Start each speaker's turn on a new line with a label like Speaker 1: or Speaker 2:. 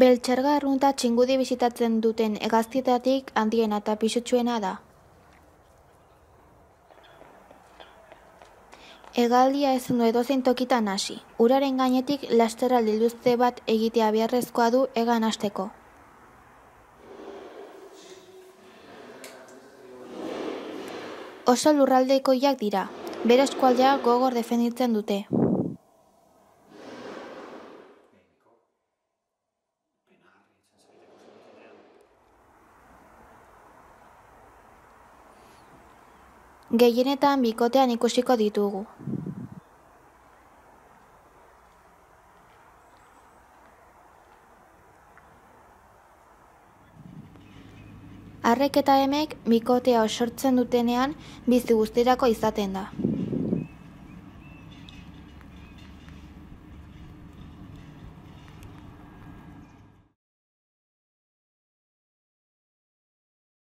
Speaker 1: Beltxarga arrunta txingudi bisitatzen duten hegaztietatik handiena eta pisutsuena da. Hegaldia ezin du edozein tokitan hasi. Uraren gainetik lasterraldi luze bat egitea beharrezkoa du hegan hasteko. Oso lurraldekoiak dira. Bere eskualdea gogor defenditzen dute. Gehienetan bikotean ikusiko ditugu. Arrek eta emek bikotea osortzen dutenean bizi guztirako izaten da.